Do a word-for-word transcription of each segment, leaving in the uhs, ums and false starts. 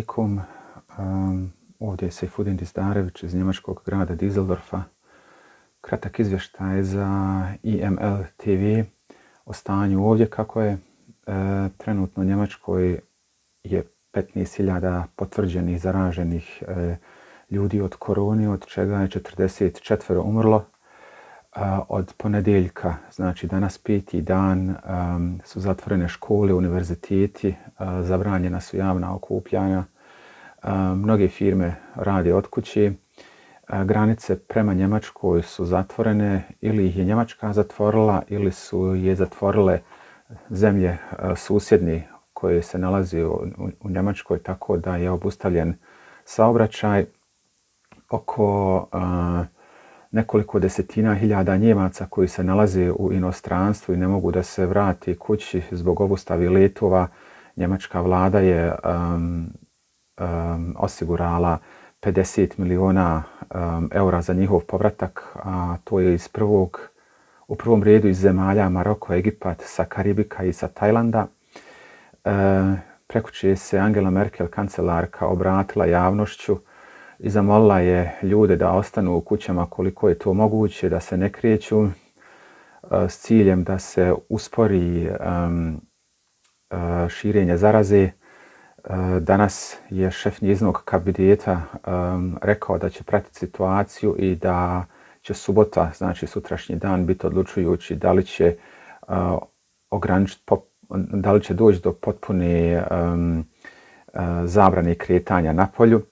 alaikum. Um, ovdje je Sejfudin Dizdarević iz njemačkog grada Düsseldorfa. Kratak izvještaj za I M L T V o stanju ovdje. Kako je e, trenutno u Njemačkoj je petnaest hiljada potvrđenih zaraženih e, ljudi od korone, od čega je četrdeset četiri umrlo. Od ponedjeljka, znači danas peti dan, um, su zatvorene škole, univerziteti, uh, zabranjena su javna okupljanja, uh, mnoge firme rade od kuće, uh, granice prema Njemačkoj su zatvorene, ili ih je Njemačka zatvorila, ili su je zatvorile zemlje uh, susjedni koje se nalaze u, u, u Njemačkoj, tako da je obustavljen saobraćaj. Oko uh, nekoliko desetina hiljada Njemaca koji se nalaze u inostranstvu i ne mogu da se vrati kući zbog obustave letova. Njemačka vlada je um, um, osigurala pedeset miliona um, eura za njihov povratak, a to je iz prvog, u prvom redu iz zemalja Maroko, Egipat, sa Karibika i sa Tajlanda. E, Prekjučer se Angela Merkel, kancelarka, obratila javnošću i zamolila je ljude da ostanu u kućama koliko je to moguće, da se ne kreću, s ciljem da se uspori um, širenje zaraze. Danas je šef njezinog kabineta um, rekao da će pratiti situaciju i da će subota, znači sutrašnji dan, biti odlučujući da li će uh, ograničiti, da li će doći do potpune um, uh, zabrane kretanja na polju.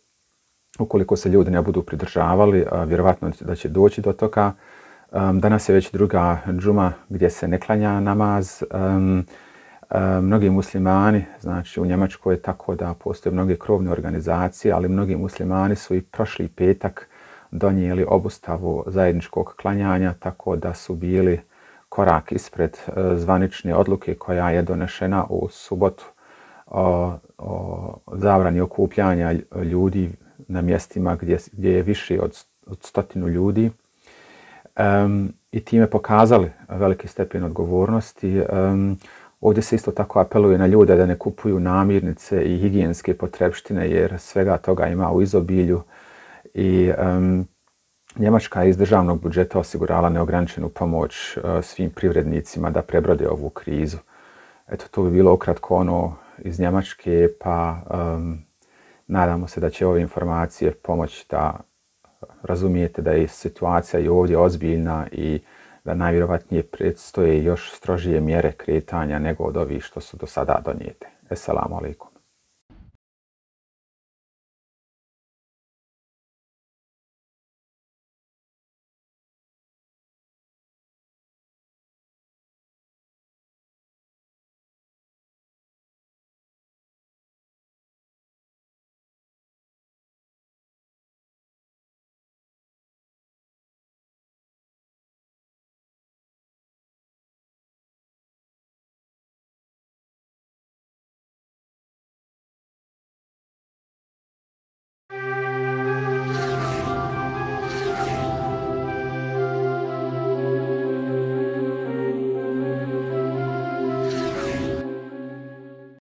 Ukoliko se ljudi ne budu pridržavali, vjerovatno da će doći do toga. Danas je već druga džuma gdje se ne klanja namaz. Mnogi muslimani, znači u Njemačkoj je tako da postoje mnoge krovne organizacije, ali mnogi muslimani su i prošli petak donijeli obustavu zajedničkog klanjanja, tako da su bili korak ispred zvanične odluke koja je donešena u subotu o, o zabrani okupljanja ljudi na mjestima gdje, gdje je više od, od stotinu ljudi, um, i time pokazali veliki stepen odgovornosti. Um, ovdje se isto tako apeluje na ljude da ne kupuju namirnice i higijenske potrepštine, jer svega toga ima u izobilju. I um, Njemačka je iz državnog budžeta osigurala neograničenu pomoć uh, svim privrednicima da prebrode ovu krizu. Eto, to bi bilo ukratko ono iz Njemačke, pa um, nadamo se da će ove informacije pomoći da razumijete da je situacija i ovdje ozbiljna i da najvjerovatnije predstoje još strožije mjere kretanja nego od ovih što su do sada donijete. Esselamu alaikum.